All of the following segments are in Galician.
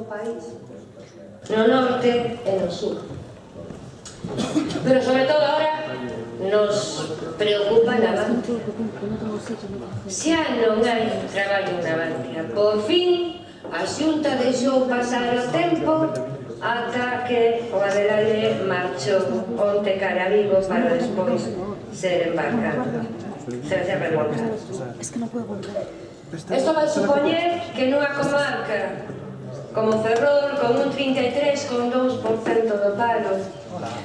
do país, no norte e no sur. Pero sobre todo ahora nos preocupa Navantia. Xa non hai traballo en Navantia. Por fin a Xunta deixou pasar o tempo ata que o Adelaide marchou onte cara a Vigo para despois ser embarcado, ser remolcado. Isto vai supoñer que nunha comarca como Ferrol, con un 33,2% do paro,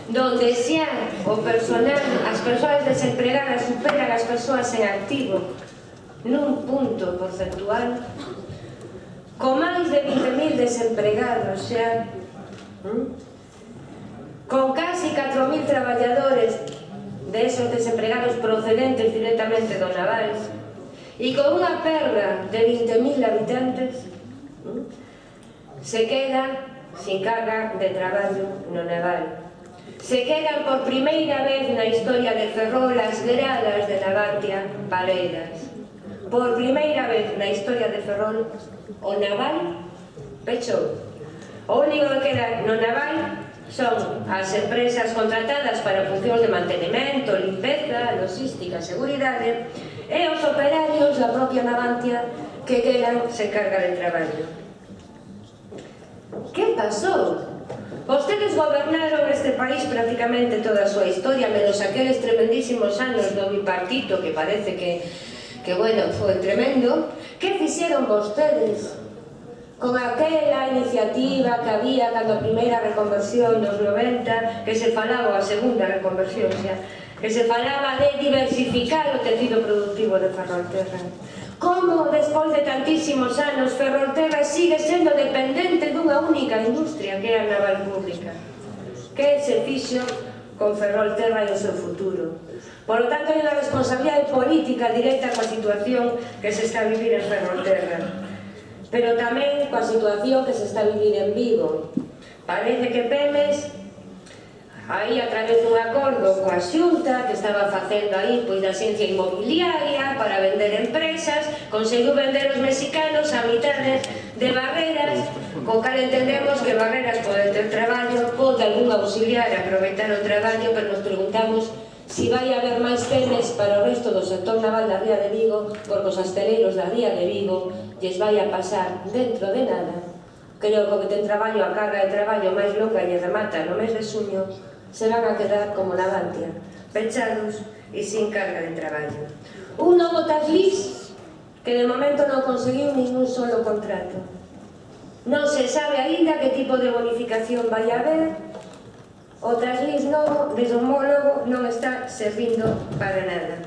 donde xa o personal, as persoas desempregadas superan as persoas en activo nun punto porcentual, con máis de 20.000 desempregados xa, con casi 4.000 traballadores de esos desempregados procedentes directamente do naval, e con unha perda de 20.000 habitantes, se queda sin carga de traballo no naval. Se quedan por primeira vez na historia de Ferrol as gradas de Navantia baleiras. Por primeira vez na historia de Ferrol o naval pechou. O único que queda no naval son as empresas contratadas para funcións de mantenimento, limpeza, logística, seguridade, e os operarios da propia Navantia que quedan sen carga de traballo. Que pasou? Vostedes gobernaron este país prácticamente toda a súa historia, menos aqueles tremendísimos anos do bipartito que parece que bueno, foi tremendo. Que fixeron vostedes con aquela iniciativa que había cando a primeira reconversión dos 90, que se falaba, a segunda reconversión xa, que se falaba de diversificar o tecido productivo de Ferrolterra? Como, despois de tantísimos anos, Ferrolterra sigue sendo dependente dunha única industria, que é a naval pública? Que se fixo con Ferrolterra e o seu futuro? Por lo tanto, hai unha responsabilidade política directa coa situación que se está a vivir en Ferrolterra, pero tamén coa situación que se está a vivir en Vigo. Parece que Pemex, aí a través dun acordo coa Xunta que estaba facendo aí pois da ciencia inmobiliaria para vender empresas, conseguiu vender os mexicanos a mitades de Barreras, co cal entendemos que Barreras pode ter traballo, pode algún auxiliar aproveitar o traballo, pero nos preguntamos si vai haber máis Pemex para o resto do sector naval da ría de Vigo, porque os asteleiros da ría de Vigo lles vai a pasar dentro de nada. Creo que o que ten traballo, a carga de traballo máis longa e remata no mes de xuño, se van a quedar como Navantia, pechados e sin carga de traballo. Un novo Taslis que de momento non conseguiu ningún solo contrato. Non se sabe aínda que tipo de bonificación vai haber. O Taslis novo, desde o homólogo, non está servindo para nada.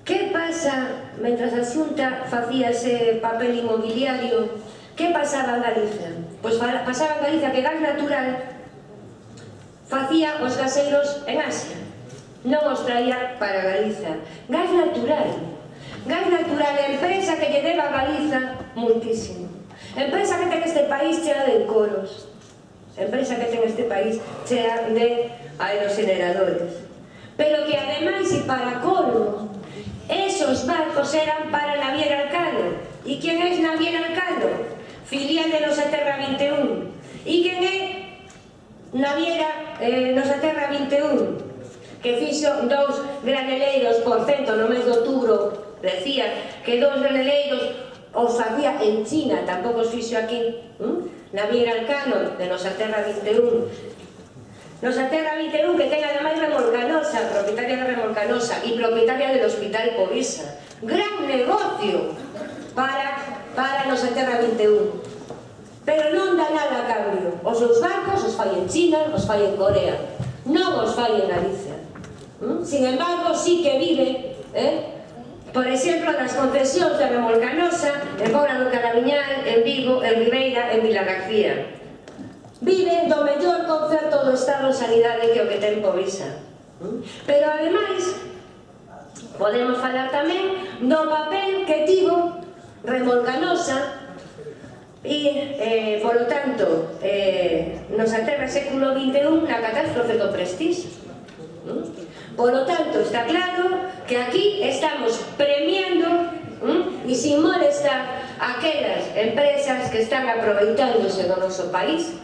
Que pasa, mentras a Xunta facía ese papel inmobiliario, que pasaba en Galicia? Pois pasaba en Galicia que Gas Natural facía os gaseiros en Asia, non os traía para Galiza. Gas Natural, empresa que lle deba a Galiza muitísimo, empresa que ten este país chea de encoros, empresa que ten este país chea de aerogeneradores, pero que ademais e para colmo, esos barcos eran para Naviera Elcano. E quen é Naviera Elcano? Filial de Nosaterra 21. E quen é Naviera Nosaterra 21? Que fixo 2 graneleiros por cento no mes de outubro. Decía que 2 graneleiros os facía en China, tampouco os fixo aquí. Naviera Elcano de Nosaterra 21. Nosaterra 21 que ten ademais Remolcanosa, propietaria de Remolcanosa e propietaria del Hospital Povisa. Gran negocio para Nosaterra 21. Pero non dá nada a cambio. Os seus barcos os fai en China, os fai en Corea, non os fai en Galicia. Sin embargo, sí que vive, por exemplo, nas concesións de Remolcanosa, en Pobra do Caramiñal, en Vigo, en Ribeira, en Vilagarcía. Vive do mellor concerto do Estado en sanidade que o que ten Povisa. Pero, ademais, podemos falar tamén do papel que tivo Remolcanosa e, polo tanto, Nosaterra século XXI na catástrofe do Prestige. Polo tanto, está claro que aquí estamos premiando e sin molestar aquelas empresas que están aproveitándose do noso país,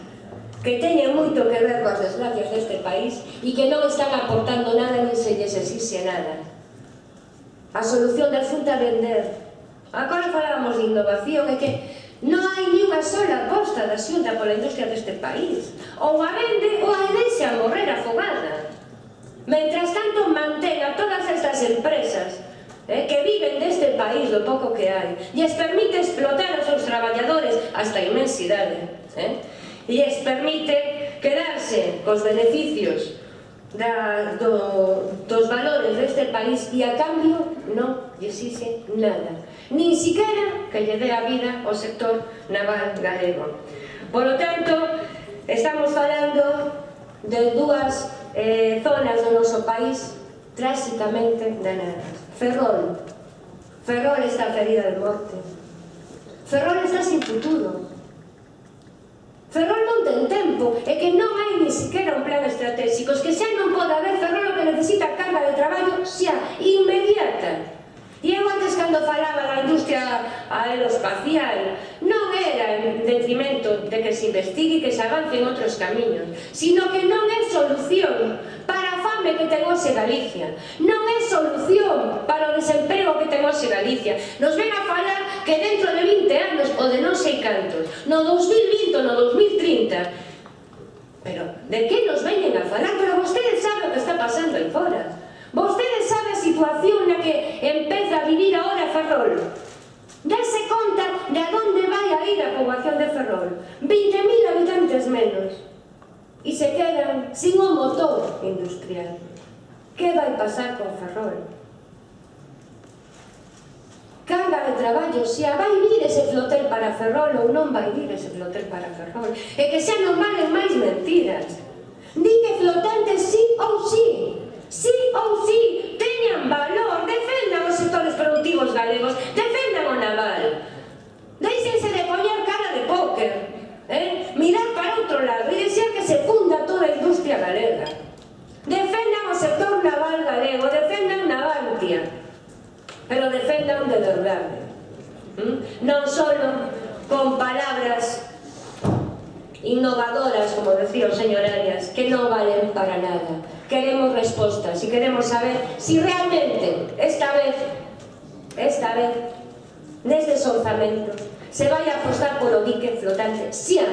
que teñen moito que ver coas desgracias deste país e que non están aportando nada nin se lles exixe nada. A solución da Xunta é vender. Agora falábamos de innovación, é que non hai ni unha sola aposta da Xunta pola industria deste país. Ou a vende ou a deixa morrer afogada. Mentras tanto mantén a todas estas empresas que viven deste país do pouco que hai e les permite explotar os seus traballadores hasta a inmensidade e les permite quedarse cos beneficios dos valores deste país e a cambio non lle exixe nada, nin siquiera que lle dé a vida ao sector naval galego. Por lo tanto, estamos falando de dúas zonas do noso país tráxicamente danadas. Ferrol está ferida de morte. Ferrol está sin futuro. Ferrol non ten tempo, é que non hai ni siquiera un plan estratégico, que xa non pode haber. Ferrol o que necesita carga de traballo xa, inmediata. E eu antes, cando falaba da industria aeroespacial, non era en detrimento de que se investigue e que se avance en outros camiños, sino que non é solución para a fame que ten hoxe Galicia, non é solución para o desemprego que ten hoxe Galicia. Nos ven a falar que dentro de 20 anos, ou de non sei cantos, no 2020 ou no 2030, pero de que nos veñen a falar? Pero vostedes saben o que está pasando aí fora. Vostedes saben a situación na que empeza a vivir ahora Ferrol. Dase conta de a onde vai a ir a poboación de Ferrol. 20.000 habitantes menos. E se quedan sin un motor industrial. Que vai pasar con Ferrol? Carga de traballo, xa vai vir ese flotel para Ferrol ou non vai vir ese flotel para Ferrol. E que xa non valen máis mentiras. Di que flotantes sí ou sí. Sí ou sí, teñan valor, defendan os sectores productivos galegos, defendan o naval. Deixense de poñer cara de póker, mirar para outro lado e deixar que se funda toda a industria galega. Defendan o sector naval galego, defendan Navantia, pero defendan de verdade. Non só con palabras innovadoras, como decía o señor Arias, que non valen para nada. Queremos respostas e queremos saber si realmente esta vez nestes orzamentos se vai a apostar polo dique flotante xa.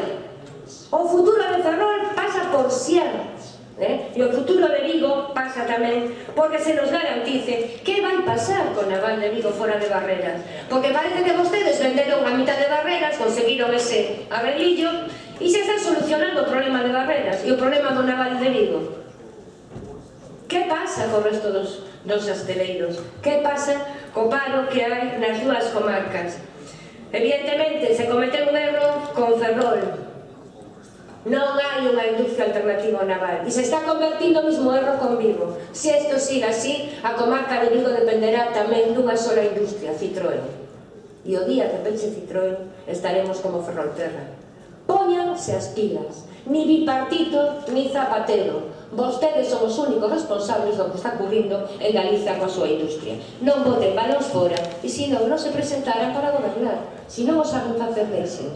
O futuro de Ferrol pasa por xa, e o futuro de Vigo pasa tamén porque se nos garantice que vai pasar con Naval de Vigo fora de Barreras, porque parece que vostedes venderon a mitad de Barreras, conseguiron ese arreglillo e se está solucionando o problema de Barreras e o problema do Naval de Vigo. Que pasa co resto dos asteleiros? Que pasa co paro que hai nas dúas comarcas? Evidentemente, se cometeu un erro con Ferrol. Non hai unha industria alternativa ao naval. E se está convertindo o mismo erro con Vigo. Se isto siga así, a comarca de Vigo dependerá tamén dunha sola industria, Citroën. E o día que peche Citroën, estaremos como Ferrolterra. Póñanse as pilas. Ni bipartito, ni Zapatero. Vostedes son os únicos responsables do que está ocurrindo en Galicia coa súa industria. Non boten balóns fora e senón non se presentarán para gobernar. Se non os hagan facer deixen.